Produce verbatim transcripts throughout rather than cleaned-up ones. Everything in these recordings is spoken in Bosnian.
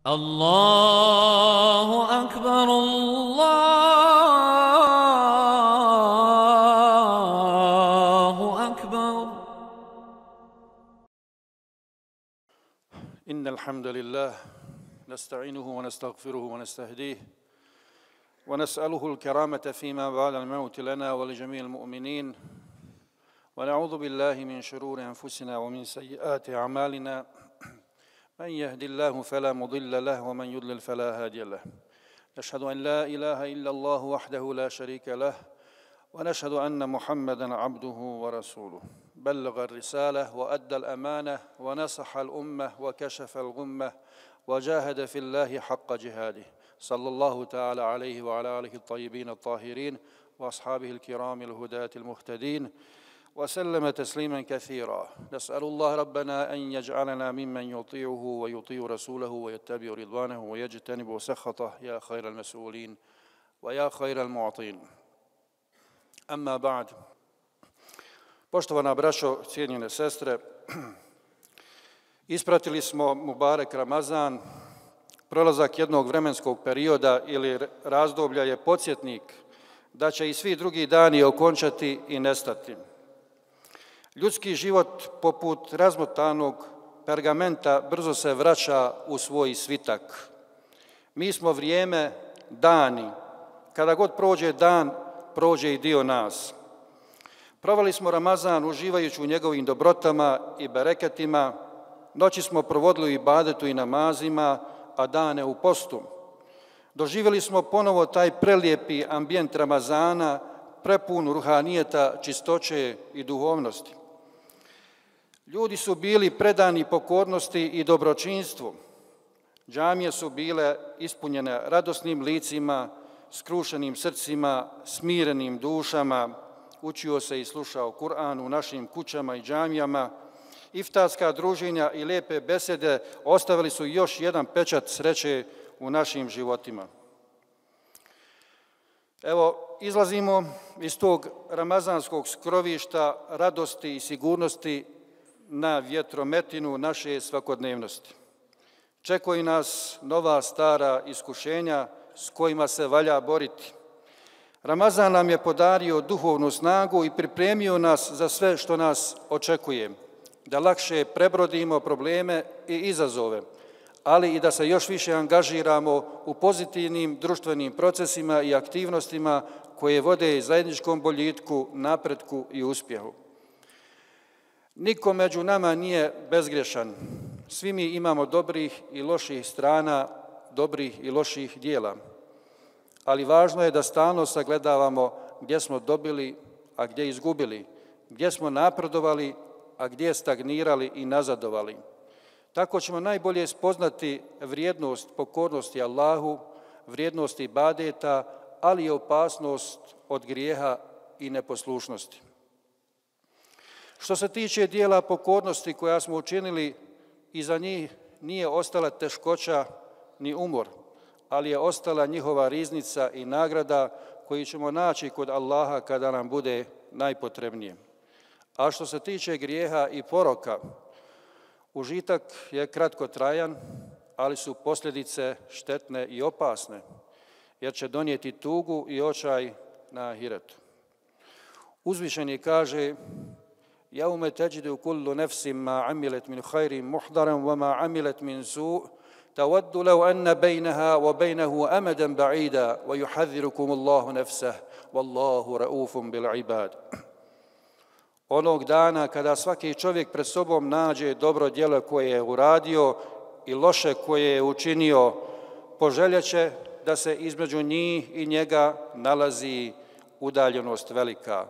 الله أكبر الله أكبر. إن الحمد لله نستعينه ونستغفره ونستهديه ونسأله الكرامة فيما بعد الموت لنا ولجميع المؤمنين ونعوذ بالله من شرور أنفسنا ومن سيئات أعمالنا من يهد الله فلا مضل له ومن يضلل فلا هادي له. نشهد أن لا إله إلا الله وحده لا شريك له ونشهد أن محمدًا عبده ورسوله بلغ الرسالة وأدى الأمانة ونصح الأمة وكشف الغمة وجاهد في الله حق جهاده صلى الله تعالى عليه وعلى آله الطيبين الطاهرين وأصحابه الكرام الهداة المهتدين وسلم تسليما كثيرا. نسأل الله ربنا أن يجعلنا ممن يطيعه ويطيع رسوله ويتبع رضوانه ويجتنب سخطه يا خير المسؤولين ويا خير المعطين. أما بعد. Poštovana braćo, cijenjene sestre, ispratili smo Mubarek Ramazan. Prolazak jednog vremenskog perioda ili razdoblja je podsjetnik da će i svi drugi dani okončati i nestati. Ljudski život, poput razmotanog pergamenta, brzo se vraća u svoj svitak. Mi smo vrijeme, dani. Kada god prođe dan, prođe i dio nas. Proveli smo Ramazan uživajući u njegovim dobrotama i bereketima, noći smo provodili u ibadetu i namazima, a dane u postu. Doživjeli smo ponovo taj prelijepi ambijent Ramazana, prepun ruhanijeta, čistoće i duhovnosti. Ljudi su bili predani pokornosti i dobročinstvu. Džamije su bile ispunjene radosnim licima, skrušenim srcima, smirenim dušama. Učio se i slušao Kur'an u našim kućama i džamijama. Iftarska druženja i lijepe besede ostavili su još jedan pečat sreće u našim životima. Evo, izlazimo iz tog ramazanskog skrovišta radosti i sigurnosti na vjetrometinu naše svakodnevnosti. Čekaju nas nova stara iskušenja s kojima se valja boriti. Ramazan nam je podario duhovnu snagu i pripremio nas za sve što nas očekuje, da lakše prebrodimo probleme i izazove, ali i da se još više angažiramo u pozitivnim društvenim procesima i aktivnostima koje vode zajedničkom boljitku, napretku i uspjehu. Niko među nama nije bezgrešan. Svi mi imamo dobrih i loših strana, dobrih i loših dijela. Ali važno je da stalno sagledavamo gdje smo dobili, a gdje izgubili, gdje smo napredovali, a gdje stagnirali i nazadovali. Tako ćemo najbolje spoznati vrijednost pokornosti Allahu, vrijednost ibadeta, ali i opasnost od grijeha i neposlušnosti. Što se tiče dijela pokornosti koja smo učinili, iza njih nije ostala teškoća ni umor, ali je ostala njihova riznica i nagrada koju ćemo naći kod Allaha kada nam bude najpotrebnije. A što se tiče grijeha i poroka, užitak je kratkotrajan, ali su posljedice štetne i opasne, jer će donijeti tugu i očaj na ahiretu. Uzvišeni kaže: Jaume teđidu kullu nefsim ma amilet min khairin muhdaran wa ma amilet min su' tawaddu law anna bejnaha wa bejnahu amadan ba'ida wa yuhadhirukum Allahu nefsah wallahu raufum bil ibad. Onog dana kada svaki čovjek pred sobom nađe dobro djelo koje je uradio i loše koje je učinio, poželjeće da se između njih i njega nalazi udaljenost velika.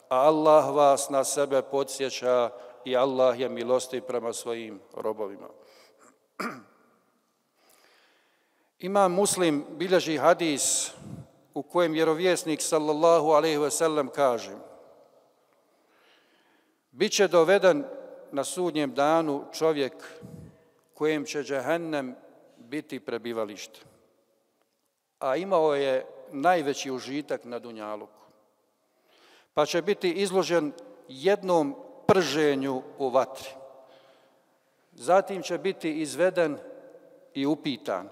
A Allah vas na sebe podsjeća i Allah je milostiv prema svojim robovima. Imam Muslim bilježi hadis u kojem vjerovjesnik sallallahu alejhi ve sellem kaže: Biće doveden na sudnjem danu čovjek kojem će džehennem biti prebivalište, a imao je najveći užitak na dunjaluku, pa će biti izložen jednom prženju u vatri. Zatim će biti izveden i upitan: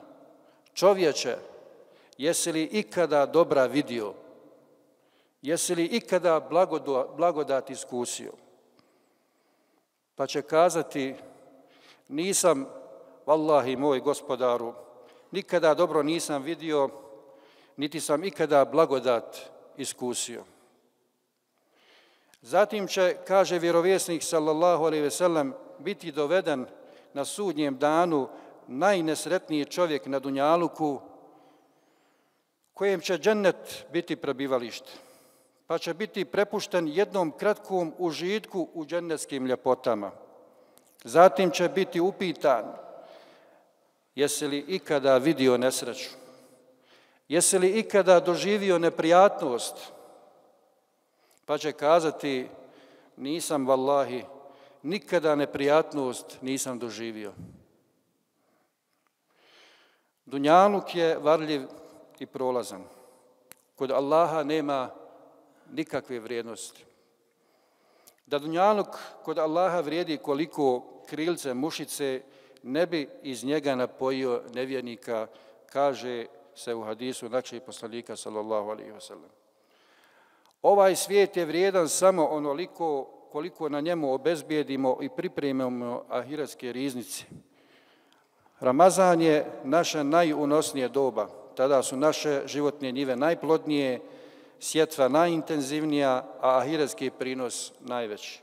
čovječe, jesi li ikada dobra vidio? Jesi li ikada blagodat iskusio? Pa će kazati: nisam, vallahi moj gospodaru, nikada dobro nisam vidio, niti sam ikada blagodat iskusio. Zatim će, kaže vjerovjesnik sallallahu alejhi ve sellem, biti doveden na sudnjem danu najnesretniji čovjek na dunjaluku, kojem će džennet biti prebivalište, pa će biti prepušten jednom kratkom užitku u džennetskim ljepotama. Zatim će biti upitan: jesi li ikada vidio nesreću? Jesi li ikada doživio neprijatnost? Pa će kazati: nisam, vallahi, nikada neprijatnost nisam doživio. Dunjaluk je varljiv i prolazan. Kod Allaha nema nikakve vrijednosti. Da dunjaluk kod Allaha vrijedi koliko krilce mušice, ne bi iz njega napojio nevjernika, kaže se u hadisu našeg poslanika sallallahu alejhi ve sellem. Ovaj svijet je vrijedan samo onoliko koliko na njemu obezbijedimo i pripremimo ahiretske riznice. Ramazan je naše najunosnije doba. Tada su naše životne njive najplodnije, sjetva najintenzivnija, a ahiretski prinos najveći.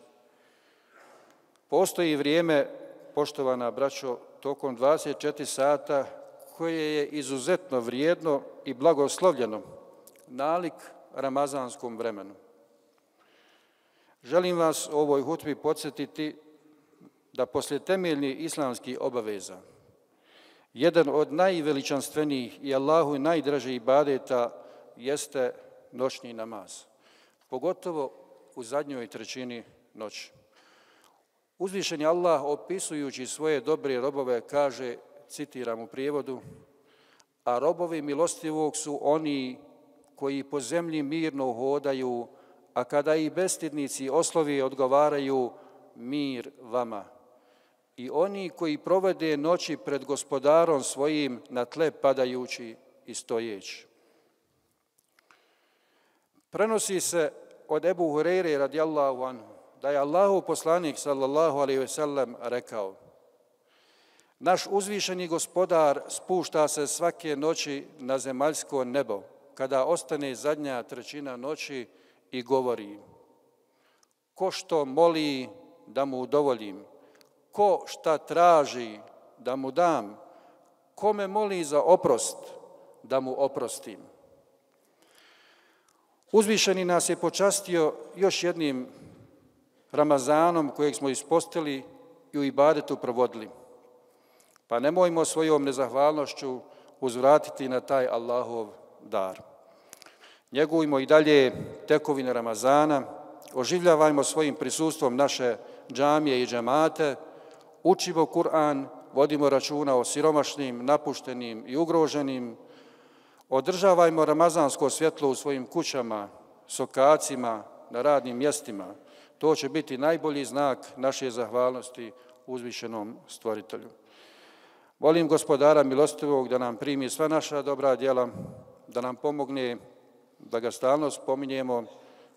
Postoji vrijeme, poštovana braćo, tokom dvadeset četiri sata, koje je izuzetno vrijedno i blagoslovljeno, nalik ramazanskom vremenu. Želim vas u ovoj hutbi podsjetiti da poslije temeljnih islamskih obaveza jedan od najveličanstvenijih i Allahu najdražih ibadeta jeste noćni namaz, pogotovo u zadnjoj trećini noći. Uzvišeni Allah, opisujući svoje dobre robove, kaže, citiram u prijevodu: a robovi milostivog su oni koji po zemlji mirno hodaju, a kada i bestidnici oslovi odgovaraju: mir vama. I oni koji provede noći pred gospodarom svojim na tle padajući i stojeći. Prenosi se od Ebu Hureyre radijallahu anhu da je Allahov poslanik sallallahu alejhi ve sellem rekao: naš uzvišeni gospodar spušta se svake noći na zemaljsko nebo kada ostane zadnja trećina noći i govori: ko što moli da mu udovoljim, ko šta traži da mu dam, ko me moli za oprost da mu oprostim. Uzvišeni nas je počastio još jednim Ramazanom kojeg smo ispostili i u ibadetu provodili. Pa nemojmo svojom nezahvalnošću uzvratiti na taj Allahov dar. Njegujmo i dalje tekovine Ramazana, oživljavajmo svojim prisustvom naše džamije i džemate, učimo Kur'an, vodimo računa o siromašnim, napuštenim i ugroženim, održavajmo ramazansko svjetlo u svojim kućama, sokacima, na radnim mjestima. To će biti najbolji znak naše zahvalnosti uzvišenom stvoritelju. Molim gospodara milostivog da nam primi sva naša dobra djela, da nam pomogne da ga stalno spominjemo,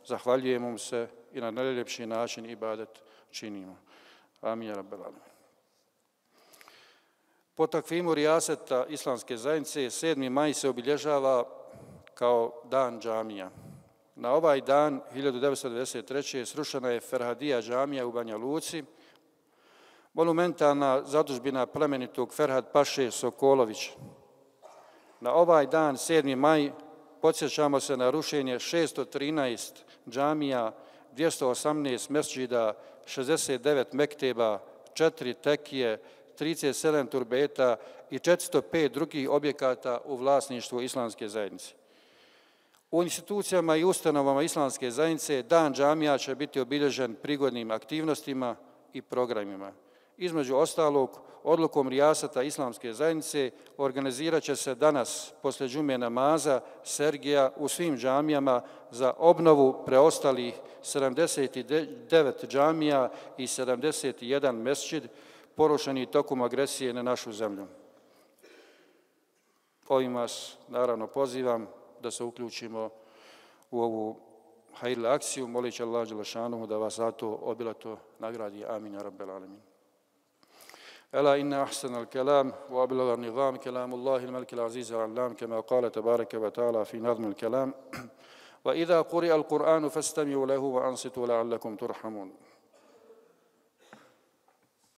zahvaljujemo mu se i na najljepši način ibadet činimo. Amin ja rabbel alamin. Po takvimu rijaseta islamske zajednice sedmi maj se obilježava kao dan džamija. Na ovaj dan hiljadu devetsto devedeset treće. srušena je Ferhadija džamija u Banja Luci, monumentalna zadužbina plemenitog Ferhad Paše Sokolovića. Na ovaj dan, sedmi maj, podsjećamo se na rušenje šesto trinaest džamija, dvjesto osamnaest mesdžida, šezdeset devet mekteba, četiri tekije, trideset sedam turbeta i četiristo pet drugih objekata u vlasništvu islamske zajednice. U institucijama i ustanovama islamske zajednice dan džamija će biti obilježen prigodnim aktivnostima i programima. Između ostalog, odlukom rijasata islamske zajednice organizirat će se danas, poslije džume namaza, sergija u svim džamijama za obnovu preostalih sedamdeset devet džamija i sedamdeset jedan mesdžid porušeni tokom agresije na našu zemlju. Ovim vas naravno pozivam da se uključimo u ovu hajrli akciju, molići Allah dželešanu da vas zato obilato nagradi. Amin ja rabbel alamin. ألا إن أحسن الكلام وأبلغ النظام كلام الله الملك العزيز العلام كما قال تبارك وتعالى في نظم الكلام وإذا قرئ القرآن فاستمعوا له وأنصتوا لعلكم ترحمون